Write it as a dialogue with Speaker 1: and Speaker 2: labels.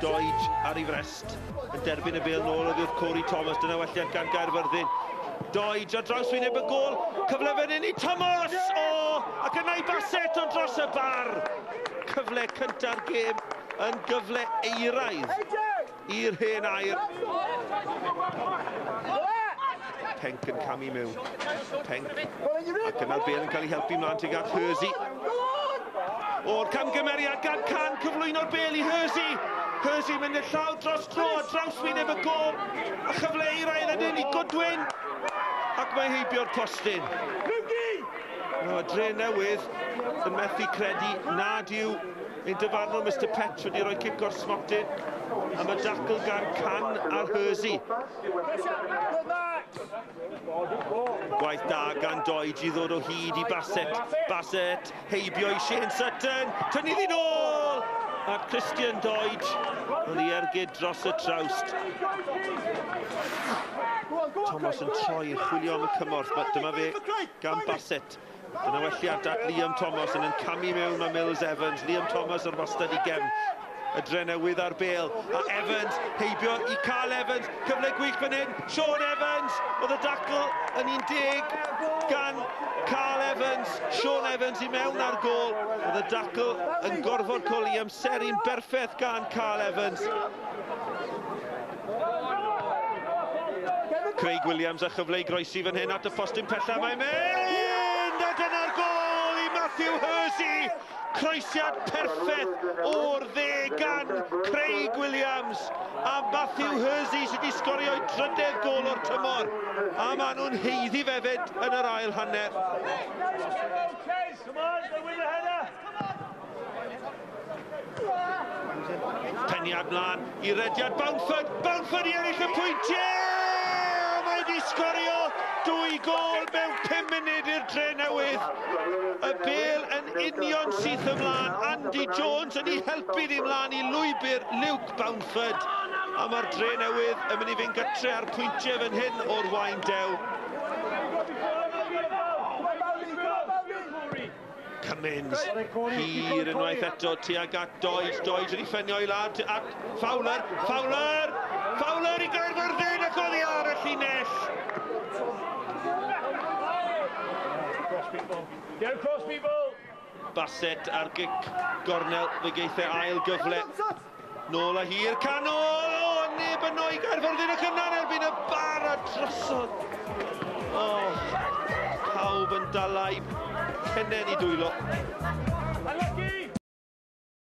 Speaker 1: Doige ar ei frest yn derbyn y bêl nôl oddi wrth Corey Thomas. Dyna welliant gan Gaerfyrddin. Doige ar draws wyneb y gôl. Cyfle fan hyn i Thomas! O! Ac yna i Bassett ond dros y bar. Cyfle cynta'r gêm yn gyfle eiraidd i'r hen air. Penk yn camu mewn. Penk. Ac yna'r bêl yn cael ei helpu mlaen tuag at Hersey. O'r camgymeriad gan Can, cyflwyno'r bêl i Hersey. Hersey mynd i'r llaw dros dro a draws wyneb y gôl. A chyfle eiraidd yn i Goodwin. Ac mae heibio'r postyn. No, Dre Newydd yn methu credu nad yw ein dyfarnwr Mr Petch wedi rhoi cic o'r smotyn am y dacl gan Can ar Hersey. Gwaith da gan Doige i ddod o hyd i Bassett. Bassett heibio i Shane Sutton. Tynnu ddi nôl! A Christian Doige yn ei ergyd dros y trawst. Thomas yn troi yn chwilio am y cymorth. Dyma fe gan Bassett. Dyna welliad at Liam Thomas yn camu mewn mae Mills Evans. Liam Thomas ar wastad i gefn. Y Drenewydd ar bêl. A Evans heibio i Carl Evans. Cyfle gwych fan hyn. Sean Evans. Oedd y dacl yn 10 gan Carl Evans. Sean Evans i mewn ar gôl. Oedd y dacl yn gorfod cael ei amseru'n berffaith gan Carl Evans. Craig Williams a chyfle i groesi fan hyn at y postyn pella. Mae'n mynd! A dyna'r gôl i Matthew Hersey! Croesiad perffaith o'r dde gan Craig Williams a Matthew Hersey sydd wedi sgorio ei drydedd gôl o'r tymor. A maen nhw'n haeddu hefyd yn yr ail hanner. Peniad mlaen i rediad Boundford. Boundford i ennill y pwyntiau! Mae wedi sgorio 2 gôl mewn 5 munud i'r Dre Newydd. Y bêl yn union syth ymlaen. Andy Jones yn ei helpu ni ymlaen i lwybr Luke Boundford. A mae'r Dre Newydd yn mynd i fynd gytre ar pwyntiau fan hyn o'r Waun Dew. Cummins hir unwaith eto tuag at Doige. Doige yn ei ffenio i lawr at Fowler. Fowler! Fowler i Gaerfyrddin ac oddi ar y llinell. Bassett ar gic gornel, fe geith e ail gyfle. Nôl a hir, canol! O, neb yno i Gaerfyrddin ac yna'n erbyn y bar a drosodd. O, pawb yn dalai pennen i dwylo.